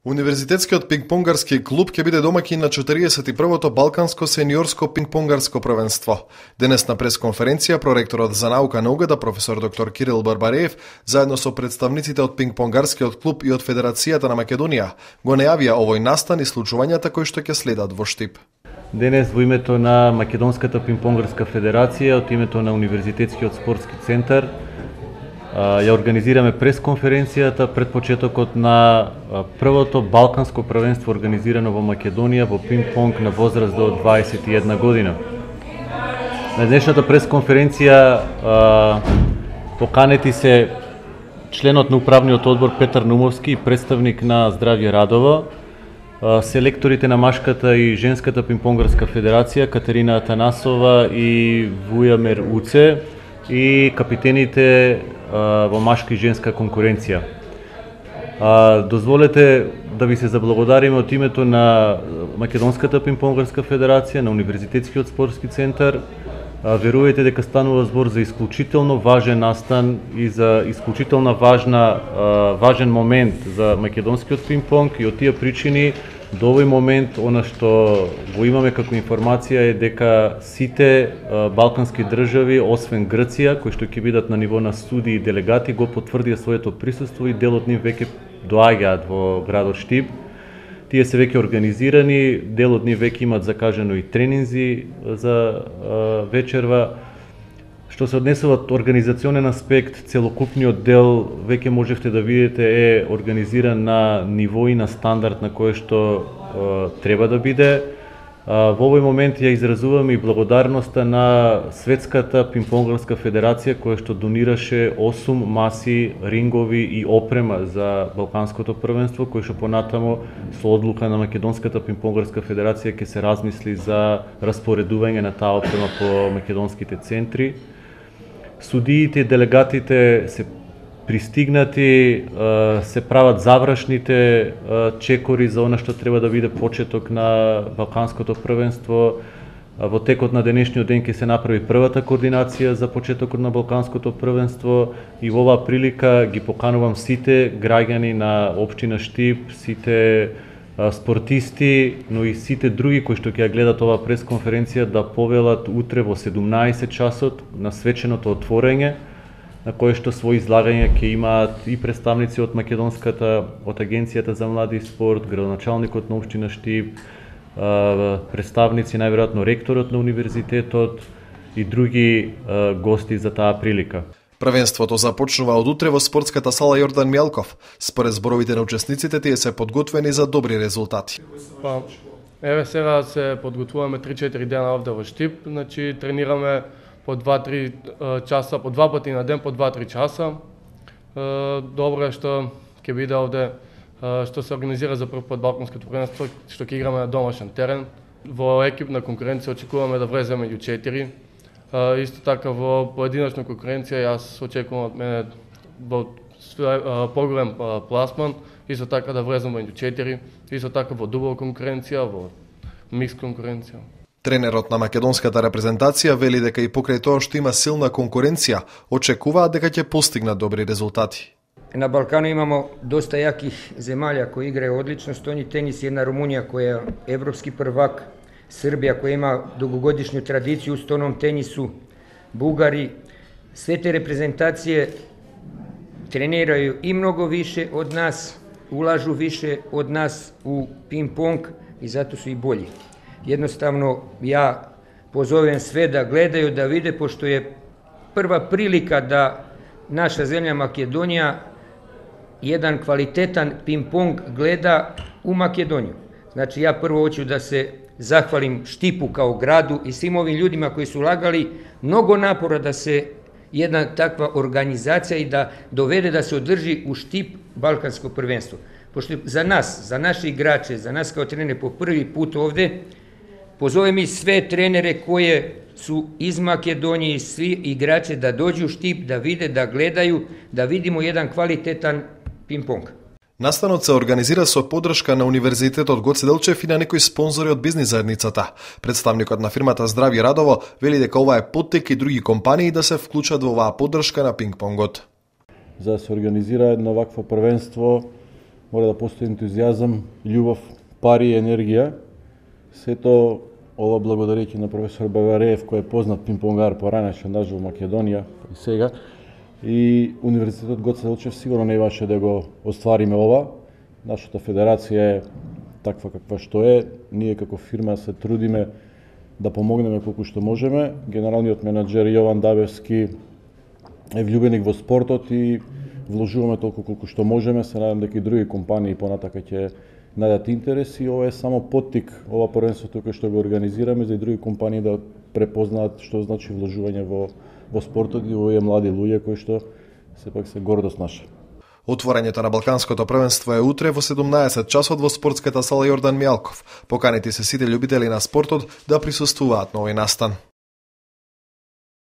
Универзитетскиот пингпонгарски клуб ќе биде домаќин на 41-то Балканско сениорско пингпонгарско првенство. Денес на пресконференција проректорот за наука на УГД професор доктор Кирил Барбареев заедно со представниците од пингпонгарскиот клуб и од Федерацијата на Македонија го најавија овој настан и случувањата кои што ќе следат во Штип. Денес во името на Македонската пингпонгарска федерација, од името на Универзитетскиот спортски центар, ја организираме пресконференцијата пред почетокот на првото балканско првенство организирано во Македонија во пинг-понг на возраст до 21 година. На денешната пресконференција поканети се членот на управниот одбор Петар Нумовски и представник на Здравје Радово, селекторите на машката и женската пингпонгарска федерација Катерина Атанасова и Вујамер Уце и капитените во машка и женска конкуренција. Дозволете да ви се заблагодариме од името на Македонската пингпонгарска федерација, на Универзитетскиот спортски центар. Верувајте дека станува збор за исклучително важен настан и за исклучително важен момент за македонскиот пинг-понг, и од тие причини до овој момент она што го имаме како информација е дека сите балкански држави, освен Грција, кои што ќе бидат на ниво на студии и делегати, го потврдија своето присуство и дел од нив веќе доаѓаат во градот Штип. Тие се веќе организирани, дел од нив веќе имаат закажано и тренинзи за вечерва. Што се однесува од организационен аспект, целокупниот дел веќе можевте да видите е организиран на ниво и на стандард на кој што треба да биде. Во овој момент ја изразуваме и благодарноста на Светската пингпонгарска федерација која што донираше 8 маси, рингови и опрема за балканското првенство, кој што понатамо со одлука на Македонската пингпонгарска федерација ќе се размисли за распоредување на таа опрема по македонските центри. Судиите и делегатите се пристигнати, се прават завршните чекори за она што треба да биде почеток на балканското првенство. Во текот на денешниот ден ќе се направи првата координација за почетокот на балканското првенство и во оваа прилика ги поканувам сите граѓани на општина Штип, сите спортисти, но и сите други кои што ќе ја гледат оваа пресконференција да повелат утре во 17 часот на свеченото отворење, на кое што своји излагања ќе имаат и представници од Македонската, од Агенцијата за млади и спорт, градоначалникот на општина Штип, представници, најверојатно ректорот на универзитетот и други гости за таа прилика. Првенството започнува од утре во спортската сала Јордан Мјалков. Според зборовите на учесниците, тие се подготвени за добри резултати. Еве сега се подготвуваме 3-4 дена овде во Штип, значи тренираме по 2-3 часа, по 2 пати на ден, по 2-3 часа. Добро е што ќе биде овде, што се организира за прв пат балканското првенство, што ќе играме на домашен терен. Во екипна конкуренција очекуваме да влеземе меѓу 4. Исто така во поединечна конкуренција јас очекувам од мене во поголем пласман, исто така да влезам меѓу 4, исто така во дубла конкуренција, во микс конкуренција. Тренерот на македонската репрезентација вели дека и покрај тоа што има силна конкуренција, очекуваат дека ќе постигнат добри резултати. На Балкану имамо доста јаких земјалја кои играју одлично стојни тенис, една Румунија која е европски првак, Србија која има дугогодишну традиција у стојном тенису, Бугари. Све те репрезентације тренирају и многу више од нас, улажу више од нас у пинг-понг и затоа су и болji. Jednostavno, ja pozovem sve da gledaju, da vide, pošto je prva prilika da naša zemlja Makedonija jedan kvalitetan ping-pong gleda u Makedoniju. Znači, ja prvo hoću da se zahvalim Štipu kao gradu i svim ovim ljudima koji su ulagali mnogo napora da se jedna takva organizacija i da dovede da se održi u Štip balkansko prvenstvo. Pošto za nas, za naše igrače, za nas kao trenere po prvi put ovde, pozovem i sve trenere koje su iz Makedonije i svi igrače da dođu u Štip, da vide, da gledaju, da vidimo jedan kvalitetan ping-pong. Настанот се организира со поддршка на Универзитетот Гоце Делчев и на некои спонзори од бизнис заедницата. Представникот на фирмата Здравје Радово вели дека ова е поттик и други компании да се вклучат во оваа поддршка на пинг-понгот. За да се организира едно вакво првенство, мора да постои ентузијазам, љубов, пари и енергија. Сето ова благодарејќи на професор Барбареев, кој е познат пинг-понгар поранеше даже во Македонија и сега. И Универзитетот Гоце Делчев сигурно не имаше да го оствариме ова. Нашата федерација е таква каква што е. Ние како фирма се трудиме да помогнеме колку што можеме. Генералниот менаџер Јован Дабевски е влюбеник во спортот и вложуваме толку колку што можеме. Се надам дека и други компании понатака ќе најдат интерес и ова е само поттик, ова првенство тука што го организираме за и други компании да препознаат што значи вложување во спортот и овие млади луѓе кои што сепак се гордост наша. Отворањето на Балканското првенство е утре во 17 часот во спортската сала Јордан Мјалков. Поканети се сите љубители на спортот да присуствуваат на овој настан.